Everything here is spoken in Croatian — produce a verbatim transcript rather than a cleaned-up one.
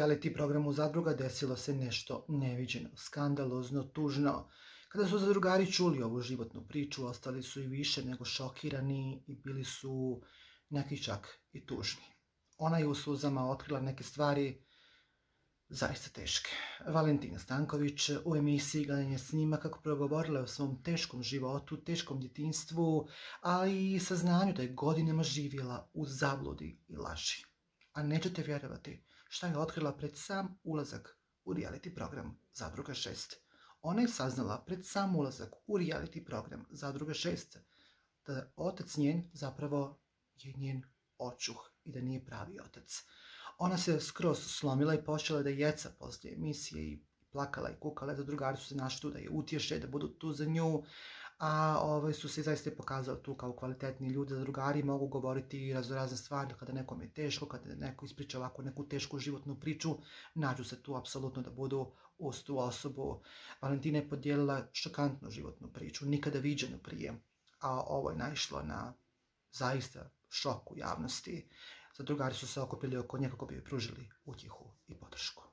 reality programu Zadruga desilo se nešto neviđeno, skandalozno, tužno. Kada su zadrugari čuli ovu životnu priču, ostali su i više nego šokirani i bili su neki čak i tužni. Ona je u suzama otkrila neke stvari zaista teške. Valentina Stanković u emisiji Gledanje snimaka progovorila je o svom teškom životu, teškom djetinjstvu, ali i saznanju da je godinama živjela u zabludi i laži. A nećete vjerovati šta je otkrila pred sam ulazak u reality program Zadruga šest. Ona je saznala pred sam ulazak u reality program Zadruga šest da otac njen zapravo je njen očuh i da nije pravi otac. Ona se skroz slomila i počela da jeca poslije emisije i plakala i kukala. Zadrugari su se našli tu da je utješe, da budu tu za nju, a ovaj, su se zaista pokazali tu kao kvalitetni ljudi. Zadrugari mogu govoriti i raznorazne stvari kada nekom je teško, kada neko ispriča ovako neku tešku životnu priču, nađu se tu apsolutno da budu uz tu osobu. Valentina je podijelila šokantnu životnu priču, nikada viđenu prije, a ovo je naišlo na zaista šok u javnosti. Zadrugari su se okupili oko nje kako bi joj pružili utjehu i podršku.